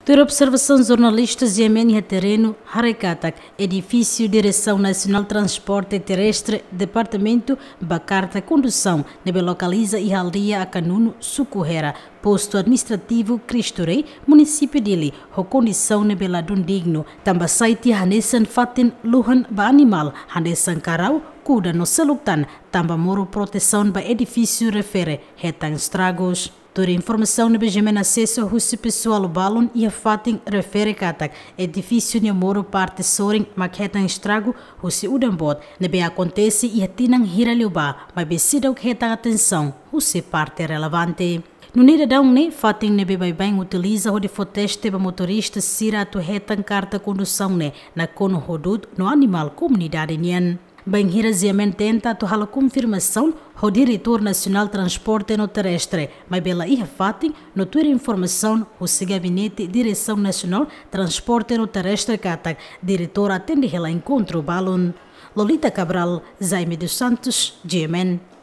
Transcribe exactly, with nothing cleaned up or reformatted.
Tuir observasaun jornalista GMN iha terrenu, haree katak edifísiu Diresaun Nasionál Transporte Terrestre, Departamentu ba Karta Kondusaun, ne'ebé lokaliza iha aldeia Akanunu, suku Hera, postu administrativu Cristo Rei, munisípiu Dili, ho kondisaun ne'ebé ladún dignu, tanba sai tiha hanesan fatin luhan ba animál, hanesan karau, kuda no seluk tan, tanba moru protesaun ba edifísiu refere hetan estragus. Tuir informasaun ne'ebé GMN asesu husi pesoál balun iha fatin refere katak edifísiu nia moru parte sorin mak hetan estragu husi udan boot ne'ebé akontese iha tinan hira liubá, maibé seidauk hetan atensaun husi parte relevante. Nune'e daudaun ne'e, fatin ne'ebé baibain utiliza hodi fó teste ba motorista sira atu hetan karta kondusaun ne'e nakonu ho du'ut no animál komunidade nian. Bainhira GMN tenta atu halo konfirmasaun ho Diretór Nasionál Transporte no Terrestre, maibé la iha fatin, no tuir informasaun husi gabinete Diresaun Nasionál Transporte no Terrestre katak diretór atende hela enkontru balun. Lolita Cabral, Jaime dos Santos, GMN.